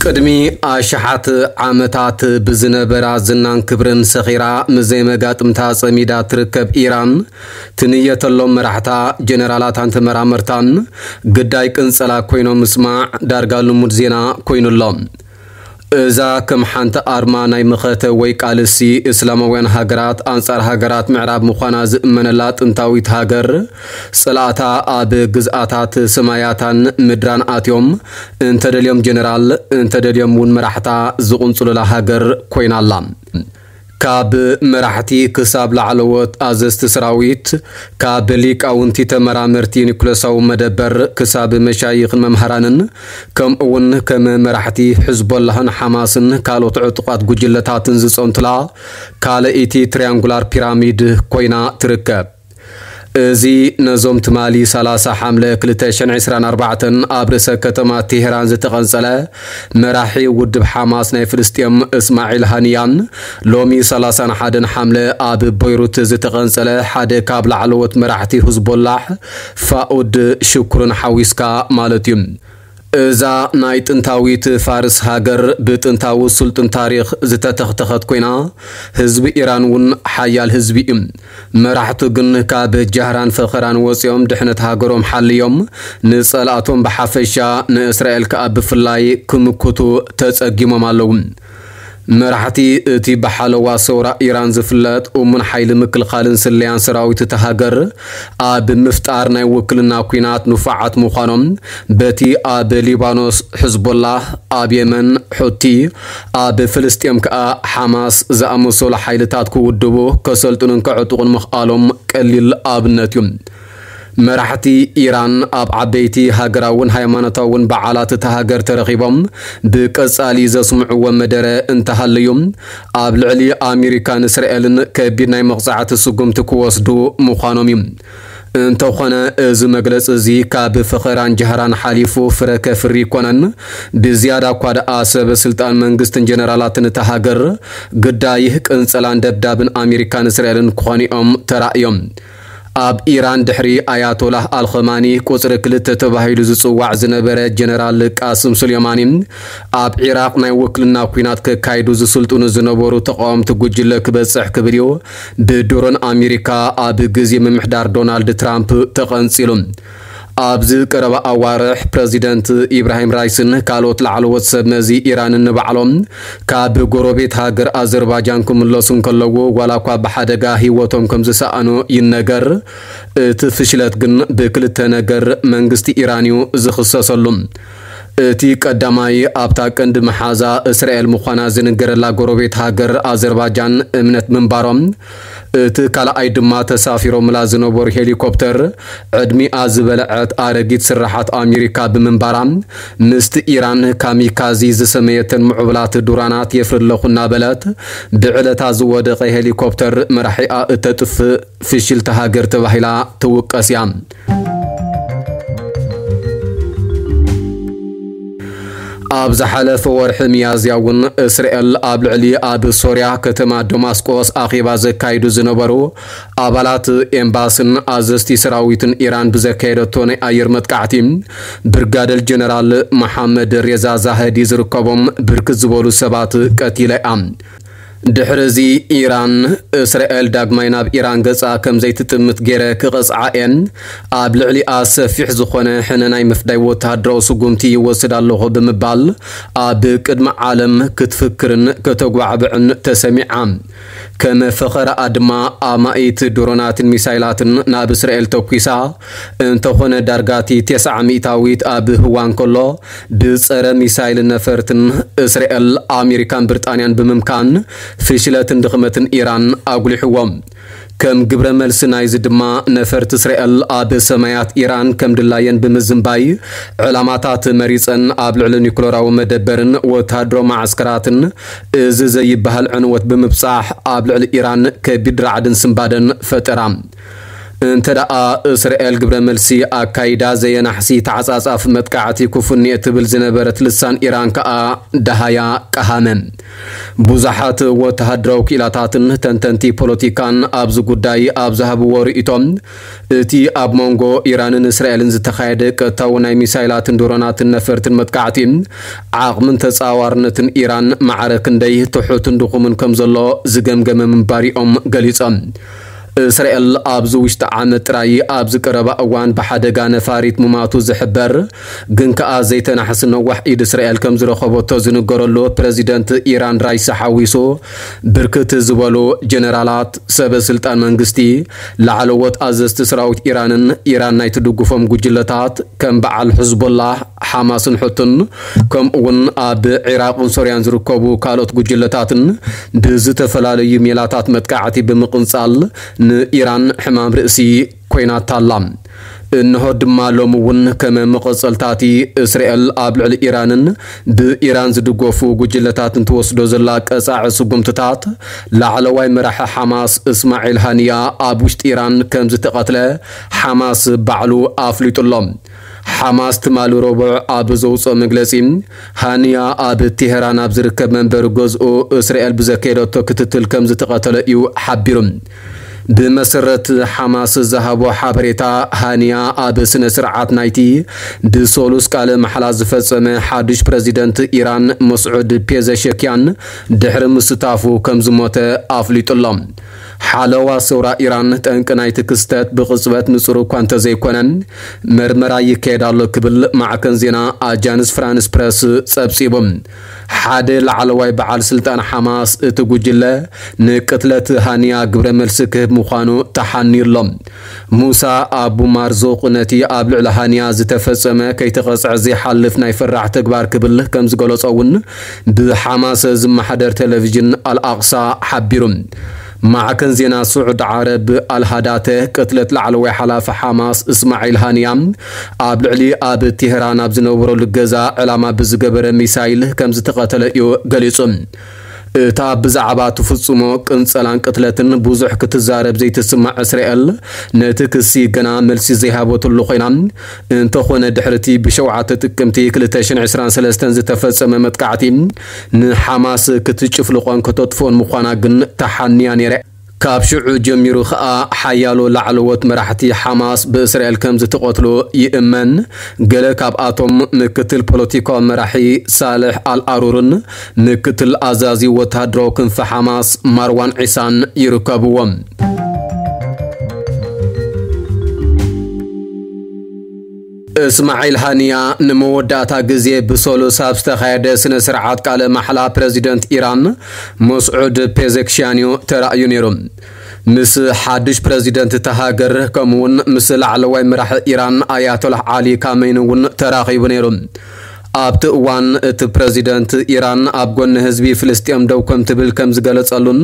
ቅድሚ ኣሽሓት ዓመታት ብዝነበራ ዝናን ክብርን ሰኺራ፣ ምስ ዘይመጋጥምታ ጸሚዳ ትርከብ ኢራን፣ ትንየተሎም መራሕታ፣ ጀነራላታን ተመራመርታን ግዳይ ቅንጸላ ኮይኖም ምስማዕ ዳርጋ ልሙድ ዜና ኮይኑሎ። እዛ ከም ሓንቲ ኣርማ ናይ መኸተ ወይ ቃልሲ እስላማውያን ሃገራት ኣንጻር ሃገራት ምዕራብ ምዃና ዝእመነላ ጥንታዊት ሃገር፣ ጽላእታ ኣብ ግዝኣታት ሰማያታን ምድራን ኣትዮም፣ እንተደልዮም ጀነራል፣ እንተደልዮም እውን መራሕታ ዝቕንጽሉላ ሃገር ኮይና ኣላ። ካብ መራሕቲ ክሳብ ላዕለዎት ኣዘዝቲ ሰራዊት፣ ካብ ሊቃውንቲ ተመራመርቲ ኒኩለሳዊ መደበር ክሳብ መሻይኽን መምሃራንን፣ ከምኡ እውን ከም መራሕቲ ሕዝቦላህን ሓማስን ካልኦት ዕጡቓት ጉጅለታትን ዝጸንቱላ ካልኣይቲ ትሪያንጉላር ፒራሚድ ኮይና ትርከብ። እዚ ነዞም ትማሊ ሰላሳ ሓምለ ክልተ ሽሕን ዕስራን ኣርባዕተን ኣብ ርእሰ ከተማ ቴሄራን ዝተቐንጸለ መራሒ ውድብ ሓማስ ናይ ፍልስጤም እስማዒል ሃንያን፣ ሎሚ ሰላሳን ሓደን ሓምለ ኣብ ቦይሩት ዝተቐንጸለ ሓደ ካብ ላዕለዎት መራሕቲ ህዝቦላሕ ፋኡድ ሽኩርን ሓዊስካ ማለት እዩ። እዛ ናይ ጥንታዊት ፋርስ ሃገር ብጥንታዊ ስልጡን ታሪኽ ዝተተኽተኸት ኮይና፣ ህዝቢ ኢራን እውን ሓያል ህዝቢ እዩ። መራሕቱ ግን ካብ ጃህራን ፈኸራን ወፂኦም ድሕነት ሃገሮም ሓልዮም፣ ንፀላእቶም ብሓፈሻ ንእስራኤል ከኣ ብፍላይ ክምክቱ ተፀጊሞም ኣለዉ። መራሕቲ እቲ ብሓለዋ ሰውራ ኢራን ዝፍለጥ እሙን ሓይሊ ምክልኻልን ስለያን ሰራዊት እታ ሃገር ኣብ ምፍጣር ናይ ውክልና ኲናት ንፉዓት ምዃኖም በቲ ኣብ ሊባኖስ ሕዝቦላህ፣ ኣብ የመን ሑቲ፣ ኣብ ፍልስጤም ከኣ ሓማስ ዝኣመሰሉ ሓይልታት ክውድቡ፣ ከሰልጥኑን ከዕጥቑን ምኽኣሎም ቀሊል ኣብነት እዩ። መራሕቲ ኢራን ኣብ ዓበይቲ ሃገራውን ሃይማኖታውን በዓላት እታ ሃገር ተረኺቦም ብቀጻሊ ዘስምዕዎ መደረ እንተሃለዩ፣ ኣብ ልዕሊ ኣሜሪካን እስራኤልን ከቢድ ናይ መቕጻዕቲ ስጉምቲ ክወስዱ ምዃኖም እዩ። እንተኾነ እዚ መግለጺ እዚ ካብ ፈኸራን ጃህራን ሓሊፉ ፍረ ከፍሪ ኣይኮነን። ብዝያዳ እኳ ደኣ ሰበ ስልጣን መንግስትን ጀነራላትን እታ ሃገር ግዳይ ቅንጸላን ደብዳብን ኣሜሪካን እስራኤልን ክኾኑ እዮም ተራእዮም። ኣብ ኢራን ድሕሪ ኣያቶላህ ኣልኸማኒ ቁጽሪ ክልተ ተባሂሉ ዝጽዋዕ ዝነበረ ጀነራል ቃስም ሱሌማኒ፣ ኣብ ዒራቕ ናይ ውክልና ኲናት ከካይዱ ዝስልጥኑ ዝነበሩ ተቓወምቲ ጉጅለ ክበጽሕ ክብል እዩ ብድሮን ኣሜሪካ ኣብ ግዜ ምምሕዳር ዶናልድ ትራምፕ ተቐንጺሉ። ኣብዚ ቀረባ ኣዋርሕ ፕረዚደንት ኢብራሂም ራይስን ካልኦት ላዕለዎት ሰብ መዚ ኢራንን ንባዕሎም ካብ ጎረቤት ሃገር ኣዘርባጃን ክምለሱ እንከለዉ፣ ዋላ እኳ ብሓደጋ ህይወቶም ከም ዝሰኣኑ ይነገር፣ እቲ ፍሽለት ግን ብክልተ ነገር መንግስቲ ኢራን እዩ ዝኽሰሰሉ። እቲ ቀዳማይ፣ ኣብታ ቀንዲ መሓዛ እስራኤል ምዃና ዝንገረላ ጎረቤት ሃገር ኣዘርባጃን እምነት ምንባሮም፣ እቲ ካልኣይ ድማ ተሳፊሮምላ ዝነበሩ ሄሊኮፕተር ዕድሚኣ ዝበልዐት ኣረጊት ስርሓት ኣሜሪካ ብምንባራ፣ ምስቲ ኢራን ካሚካዚ ዝሰመየተን ምዕቡላት ድሮናት የፍሪ ኣለኹ እናበለት ብዕለታ ዝወደቐ ሄሊኮፕተር መራሒኣ እተጥፍእ ፍሽልቲ ሃገር ተባሂላ ትውቀስ እያ። ኣብ ዝሓለፈ ወርሒ ሚያዝያ እውን እስራኤል ኣብ ልዕሊ ኣብ ሶርያ ከተማ ደማስቆስ ኣኼባ ዘካይዱ ዝነበሩ ኣባላት ኤምባስን ኣዘዝቲ ሰራዊትን ኢራን ብዘካየደቶ ናይ ኣየር መጥቃዕቲ፣ ብርጋደል ጀነራል መሓመድ ሬዛ ዛህዲ ዝርከቦም ብርክት ዝበሉ ሰባት ቀቲላ እያ። ድሕሪ እዚ ኢራን፣ እስራኤል ዳግማይ ናብ ኢራን ገጻ ከም ዘይትጥምት ገይረ ክቐጽዓ እየን፣ ኣብ ልዕሊኣ ሰፊሕ ዝኾነ ሕነ ናይ ምፍዳይ ወተሃደራዊ ስጉምቲ ይወስድ ኣለኹ ብምባል ኣብ ቅድሚ ዓለም ክትፍክርን ከተጓዕብዕን ተሰሚዓ። ከም ፈኸራኣ ድማ ኣማኢት ድሮናትን ሚሳይላትን ናብ እስራኤል ተኲሳ። እንተኾነ ዳርጋ እቲ ተስዓ ሚእታዊት ኣብ ህዋ እንከሎ ብጸረ ሚሳይል ነፈርትን እስራኤል፣ ኣሜሪካን ብሪጣንያን ብምምካን ፍሽለትን ድኽመትን ኢራን ኣጉሊሕዎ። ከም ግብረ መልሲ ናይዚ ድማ ነፈርቲ እስራኤል ኣብ ሰማያት ኢራን ከም ድላየን ብምዝንባይ ዕላማታት መሪጸን ኣብ ልዕሊ ኒኩለራዊ መደበርን ወተሃደራዊ መዓስከራትን እዚ ዘይበሃል ዕንወት ብምብጻሕ ኣብ ልዕሊ ኢራን ከቢድ ራዕድን ስንባደን ፈጠራ። እንተ ደኣ እስራኤል ግብረ መልሲ ኣካይዳ ዘየናሕሲ ተዓጻጻፊ መጥቃዕቲ ክፉን እየ ትብል ዝነበረት ልሳን ኢራን ከኣ ደሃያ ቀሃመ። ብዙሓት ወተሃደራዊ ክኢላታትን ተንተንቲ ፖለቲካን ኣብዚ ጉዳይ ኣብ ዝሃብዎ ርእይቶም፣ እቲ ኣብ መንጎ ኢራንን እስራኤልን ዝተኻየደ ቀጥታዊ ናይ ሚሳይላትን ድሮናትን ነፈርትን መጥቃዕቲ ዓቕምን ተጻዋርነትን ኢራን ማዕረ ክንደይ ትሑትን ድኹምን ከም ዘሎ ዝገምገመ ምንባር እዮም ገሊጾም። እስራኤል ኣብዚ ውሽጢ ዓመት ጥራይ ኣብዚ ቀረባ እዋን ብሓደጋ ነፋሪት ምማቱ ዝሕበር ግን ከኣ ዘይተናሕሲ ነዋሕ ኢድ እስራኤል ከም ዝረኸበቶ ዝንገረሉ ፕረዚደንት ኢራን ራይሲ ሓዊሱ ብርክት ዝበሉ ጀነራላት፣ ሰበ ስልጣን መንግስቲ፣ ላዕለዎት ኣዘዝቲ ሰራዊት ኢራንን ኢራን ናይ ትድግፎም ጉጅለታት ከም በዓል ሕዝቦላህ፣ ሓማስን ሕቱን ከምኡ እውን ኣብ ዒራቕን ሶርያን ዝርከቡ ካልኦት ጉጅለታትን ብዝተፈላለዩ ሜላታት መጥቃዕቲ ብምቕንጻል ንኢራን ሕማም ርእሲ ኮይናታ ኣላ። እንሆ ድማ ሎሚ እውን ከም መቐጸልታቲ እስራኤል ኣብ ልዕሊ ኢራንን ብኢራን ዝድገፉ ጉጅለታትን ትወስዶ ዘላ ቀጻዒ ስጉምትታት ላዕለዋይ መራሒ ሓማስ እስማዒል ሃንያ ኣብ ውሽጢ ኢራን ከም ዝተቐትለ ሓማስ ባዕሉ ኣፍሊጡ ኣሎ። ሓማስ ትማሊ ረቡዕ ኣብ ዘውፅኦ መግለፂ፣ ሃንያ ኣብ ቴሄራን ኣብ ዝርከብ መንበሪ ገዝኡ እስራኤል ብዘካየደቶ ክትትል ከም ዝተቐተለ እዩ ሓቢሩ። ብመሰረት ሓማስ ዝሃቦ ሓበሬታ፣ ሃንያ ኣብ ስነ ስርዓት ናይቲ ብሶሉስ ቃለ ማሕላ ዝፈጸመ ሓድሽ ፕረዚደንት ኢራን መስዑድ ፔዘሸክያን ድሕሪ ምስታፉ ከም ዝሞተ ኣፍሊጡ ኣሎ። ሓለዋ ሰውራ ኢራን ጠንቂ ናይቲ ክስተት ብቕጽበት ንጹር እኳ እንተዘይኮነ፣ መርመራ ይካየድ ኣሎ ክብል ማዕከን ዜና ኣጃንስ ፍራንስ ፕረስ ጸብጺቡ። ሓደ ላዕለዋይ በዓል ስልጣን ሓማስ እቲ ጉጅለ ንቅትለት ሃንያ ግብረ መልሲ ክህብ ምዃኑ ተሓንዩ ኣሎ። ሙሳ ኣቡ ማርዙቕ ነቲ ኣብ ልዕሊ ሃንያ ዝተፈጸመ ከይተቐጽዐ ዘይሓልፍ ናይ ፈራሕ ተግባር ክብል ከም ዝገለጾ እውን ብሓማስ ዝመሓደር ቴሌቪዥን ኣልኣቕሳ ሓቢሩ። ማዕከን ዜና ስዑድ ዓረብ ኣልሃዳተ ቅትለት ላዕለዋይ ሓላፊ ሓማስ እስማዒል ሃንያ ኣብ ልዕሊ ኣብ ቴህራን ኣብ ዝነበረሉ ገዛ ዕላማ ብዝገበረ ሚሳይል ከም ዝተቐተለ እዩ ገሊጹ። እታ ብዛዕባ ትፍጽሞ ቅንጸላን ቅትለትን ብዙሕ ክትዛረብ ዘይትስማዕ እስራኤል፣ ነቲ ክሲ ገና መልሲ ዘይሃበትሉ ኮይና፣ እንተኾነ ድሕሪ እቲ ብሸውዓተ ጥቅምቲ ክልተ ሽሕን ዕስራን ሰለስተን ዝተፈጸመ መጥቃዕቲ ንሓማስ ክትጭፍልቖን ከተጥፍኦን ምዃና ግን ተሓንያ ነይረ። ካብ ሽዑ ጀሚሩ ኸኣ ሓያሎ ላዕለዎት መራሕቲ ሓማስ ብእስራኤል ከም ዝተቐትሉ ይእመን። ገለ ካብኣቶም ምክትል ፖለቲካዊ መራሒ ሳልሕ ኣልኣሩርን ምክትል ኣዛዚ ወተሃደራዊ ክንፊ ሓማስ ማርዋን ዒሳን ይርከብዎም። እስማዒል ሃንያ ንመወዳእታ ግዜ ብሰሉስ ኣብ ዝተኻየደ ስነ ስርዓት ቃለ ማሕላ ፕረዚደንት ኢራን መስዑድ ፔዘክሽያን እዩ ተራእዩ ነይሩ። ምስ ሓድሽ ፕረዚደንት እታ ሃገር ከምኡውን ምስ ላዕለዋይ መራሒ ኢራን ኣያቶላህ ዓሊ ካሜኒ እውን ተራኺቡ ነይሩ። ኣብቲ እዋን እቲ ፕረዚደንት ኢራን ኣብ ጎኒ ህዝቢ ፍልስጤም ደው ከም ትብል ከም ዝገለጸሉን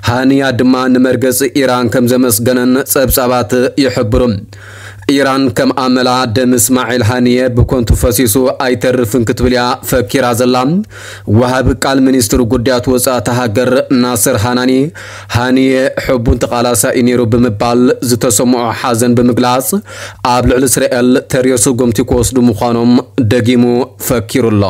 ሃንያ ድማ ንመርገጺ ኢራን ከም ዘመስገነን ጸብጻባት ይሕብሩ። ኢራን ከም ኣመላ ደም እስማዒል ሃንየ ብኮንቱ ፈሲሱ ኣይተርፍን ክትብል እያ ፈኪራ ዘላ። ወሃቢ ቃል ሚኒስትሪ ጉዳያት ወጻእቲ ሃገር ናስር ሃናኒ፣ ሃንየ ሕቡን ተቓላሳይ ነይሩ ብምባል ዝተሰምዖ ሓዘን ብምግላጽ፣ ኣብ ልዕሊ እስራኤል ተሪር ስጉምቲ ክወስዱ ምዃኖም ደጊሙ ፈኪሩ ኣሎ።